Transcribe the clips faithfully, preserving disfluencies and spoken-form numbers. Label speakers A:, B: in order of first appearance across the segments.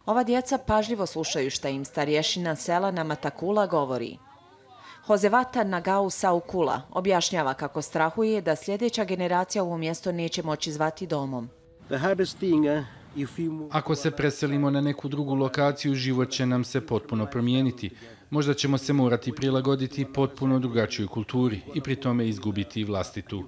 A: Ova djeca pažljivo slušaju šta im starješina sela na Matakula govori. Josevata Nagau Saukula objašnjava kako strahuje da sljedeća generacija ovo mjesto neće moći zvati domom.
B: Ako se preselimo na neku drugu lokaciju, život će nam se potpuno promijeniti. Možda ćemo se morati prilagoditi potpuno drugačijoj kulturi i pri tome izgubiti vlastitu.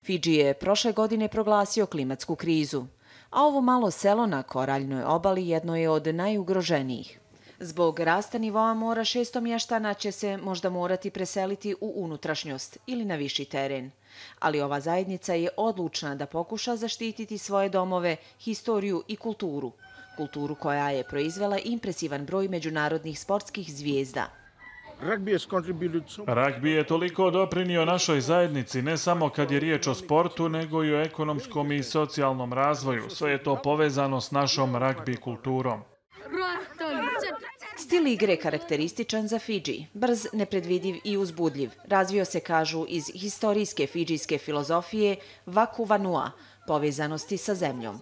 A: Fidži je prošle godine proglasio klimatsku krizu, a ovo malo selo na koraljnoj obali jedno je od najugroženijih. Zbog rasta nivoa mora šesto mještana će se možda morati preseliti u unutrašnjost ili na viši teren. Ali ova zajednica je odlučna da pokuša zaštititi svoje domove, historiju i kulturu. Kulturu koja je proizvela impresivan broj međunarodnih sportskih zvijezda.
C: Ragbi je toliko doprinio našoj zajednici, ne samo kad je riječ o sportu, nego i o ekonomskom i socijalnom razvoju. Sve je to povezano s našom ragbi kulturom.
A: Stil igre je karakterističan za Fidži, brz, nepredvidiv i uzbudljiv. Razvio se, kažu, iz historijske fidžijske filozofije Waku Vanua, povezanosti sa zemljom.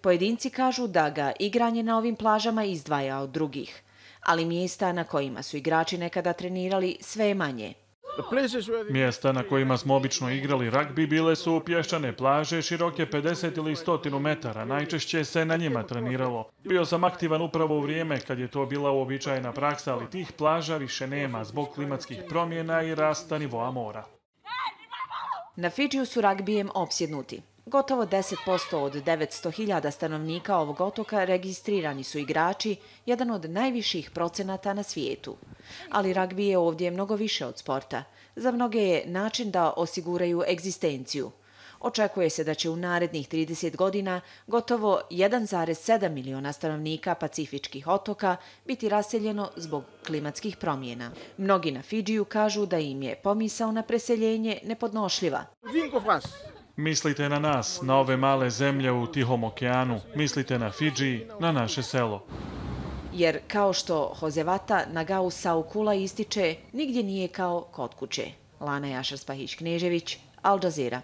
A: Pojedinci kažu da ga igranje na ovim plažama izdvaja od drugih, ali mjesta na kojima su igrači nekada trenirali sve je manje.
C: Mjesta na kojima smo obično igrali ragbi bile su pješčane plaže široke pedeset ili sto metara. Najčešće se na njima treniralo. Bio sam aktivan upravo u vrijeme kad je to bila uobičajena praksa, ali tih plaža više nema zbog klimatskih promjena i rasta nivoa mora.
A: Na Fidžiju su ragbijem opsjednuti. Gotovo deset posto od devetsto hiljada stanovnika ovog otoka registrirani su igrači, jedan od najviših procenata na svijetu. Ali ragbi je ovdje mnogo više od sporta. Za mnoge je način da osiguraju egzistenciju. Očekuje se da će u narednih trideset godina gotovo jedan zarez sedam miliona stanovnika pacifičkih otoka biti raseljeno zbog klimatskih promjena. Mnogi na Fidžiju kažu da im je pomisao na preseljenje nepodnošljiva.
C: Mislite na nas, na ove male zemlje u Tihom okeanu. Mislite na Fidži, na naše selo.
A: Jer kao što Josevata Nagau Saukula ističe, nigdje nije kao kod kuće. Lana Jašar Spahić Knežević, Al Jazeera.